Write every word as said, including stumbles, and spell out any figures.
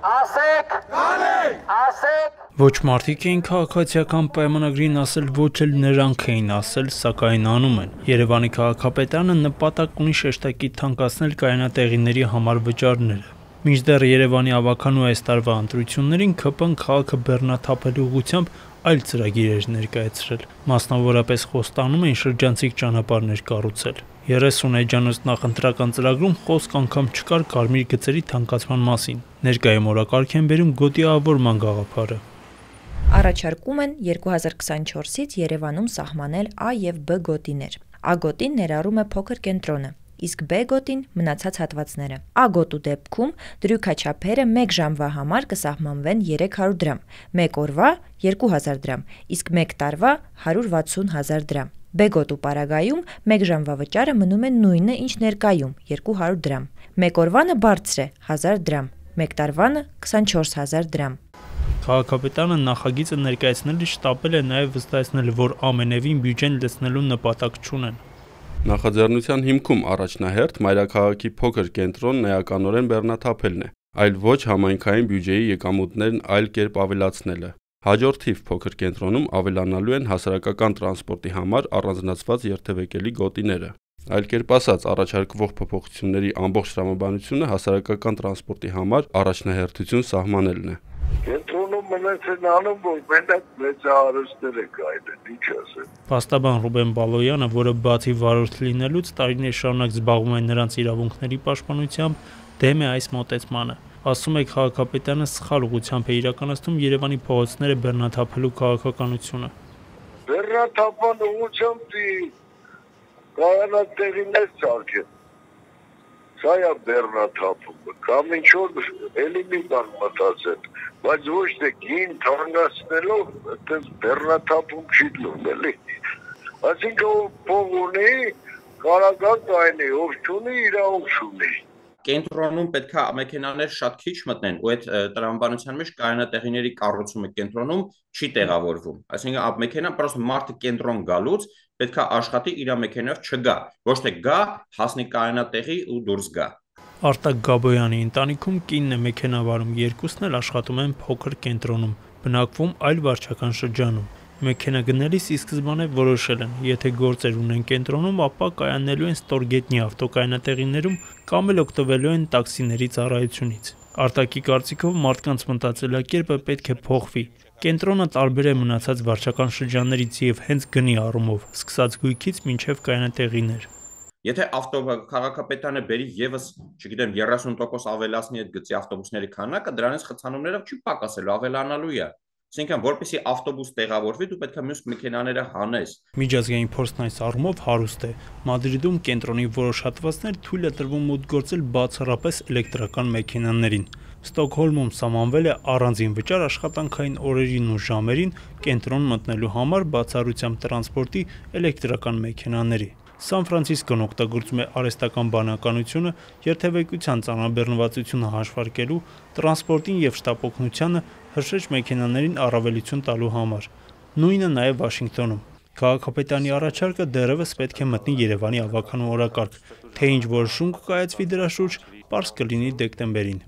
Ասեք, կանենք, ասեք։ Ոչ մարդիկ էին քաղաքացիական պայմանագրին ասել, ոչ էլ նրանք էին ասել, սակայն անում են։ Երևանի քաղաքապետարանը նպատակ ունի շեշտակի թանկացնել կայանատեղիների համար վճարները։ Մինչդեռ Երևանի ավականու այս տարվա ընտրություններին ՔՊ-ն քաղաքը բեռնաթափելու ուղղությամբ այլ ծրագիր էր ներկայացրել։ Մասնավորապես խոստանում էին շրջանցիկ ճանապարհներ կառուցել։ երեսուն էջանոց նախընտրական ծրագրում խոսք անգամ չկար կարմիր գծերի թանկացման մասին։ Ներկայում օրակարգ են բերում գոտիավորման գաղափարը։ Առաջարկում են երկու հազար քսանչորսից Երևանում սահմանել A և B գոտիներ։ A գոտին ներառում է փոքր կենտրոնը, իսկ B գոտին մնացած հատվածները։ A գոտու դեպքում դրույքաչափերը մեկ ժամվա համար կսահմանվեն երեք հարյուր դրամ, մեկ օրվա երկու հազար դրամ, իսկ մեկ տարվա հարյուր վաթսուն հազար դրամ։ B գոտու պարագայում մեկ ժամվա վճարը մնում է նույնը, ինչ ներկայում՝ երկու հարյուր դրամ։ Մեկ օրվանը բարձր է հազար դրամ, մեկ տարվանը քսանչորս հազար դրամ։ Քաղաքապետարանը նախագիծը ներկայացնելիս շտապել է նաև վստահեցնել, որ ամենևին բյուջեն լցնելու նպատակ չունեն։ Նախաձեռնության հիմքում առաջնահերթ մայրաքաղաքի փոքր կենտրոնն էականորեն բեռնաթափելն է, այլ ոչ համայնքային բյուջեի եկամուտներն այլ կերպ ավելացնելը։ Հաջորդիվ փոքր կենտրոնում ավելանալու են հասարակական տրանսպորտի համար առանձնացված երթևեկելի գոտիները։ Այլ կերպ ասած, առաջարկվող փոփոխությունների ամբողջ տրամաբանությունը հասարակական տրանսպորտի համար առաջնահերթություն սահմանելն է։ Կենտրոնում մնացեն անում, որ մենակ մեծ հարստեր է կայլեն, ինչ ասեմ։ Փաստաբան Ռուբեն Բալոյանը, որը բացի վարորդ լինելուց տարիներ շարունակ զբաղվում է նրանց իրավունքների պաշտպանությամբ, դեմ է այս մոտեցմանը։ Ասում է, քաղաքապետարանը սխալ ուղղությամբ է իրականացնում Երևանի փողոցները բեռնաթափելու քաղաքականությունը։ Բեռնաթափան ուղղությամբ կայանատեղիներ ծարգեն։ Սա է բեռնաթափումը, կամ ինչ-որ էլի մի բան մտածել, բայց ոչ թե գին թանկացնելով, այդպես բեռնաթափում չի լինում, էլի։ Այսինքն փող ունի, կարագան կայնի, ով չունի, իրավունք չունի։ Կենտրոնում պետք է մեքենաներ շատ քիչ մտնեն, ու այդ տրամաբանության մեջ կայանատեղիների կառուցումը կենտրոնում չի տեղավորվում։ Այսինքն մեքենա պրոստը մարդը կենտրոն գալուց պետք է աշխատի իր մեքենայով չգա, ոչ թե գա, հասնի կայանատեղի ու դուրս գա։ Արտակ Գաբոյանի ընտանիքում կինն է մեքենավարում, երկուսն էլ աշխատում են փոքր կենտրոնում, բնակվում այլ վարչական շրջանում։ Մեքենա գնելիս ի սկզբանե որոշել են, եթե գործեր ունեն կենտրոնում, ապա կայանելու են ստորգետնյա ավտոկայանատեղիներում կամ էլ օգտվելու են տաքսիների ծառայությունից։ Արտակի կարծիքով մարդկանց մտածելակերպը պետք է փոխվի։ Կենտրոնը տարբեր է մնացած վարչական շրջաններից եւ հենց գնի առումով, սկսած գույքից մինչեւ կայանատեղիներ։ Եթե քաղաքապետարանը բերի եւս, չգիտեմ, երեսուն տոկոս ավելացնի այդ գծի ավտոբուսների քանակը, դրանից խցանումներով չի պակասելու, ավելանալու է։ Այսինքն, որպեսզի ավտոբուս տեղավորվի, դու պետք է մյուս մեքենաները հանես։ Միջազգային փորձն այս առումով հարուստ է։ Մադրիդում կենտրոնի որոշ հատվածներ թույլ է տրվում մուտք գործել բացառապես էլեկտրական մեքենաներին։ Ստոկհոլմում սահմանվել է առանձին վճար աշխատանքային օրերին ու ժամերին կենտրոն մտնելու համար բացառությամբ տրանսպորտի էլեկտրական մեքենաների։ Սան Ֆրանցիսկոն օգտագործում է արհեստական բանականությունը երթևեկության ծանրաբեռնվածությունը հաշվարկելու, տրանսպորտին եւ շտապօգնությանը հրշեջ մեքենաներին առավելություն տալու համար։ Նույնը նաեւ Վաշինգտոնում։ Քաղաքապետարանի առաջարկը դեռևս պետք է մտնի Երևանի ավականու օրակարգ, թե ինչ որոշում կկայացվի դրա շուրջ, պարզ կլինի դեկտեմբերին։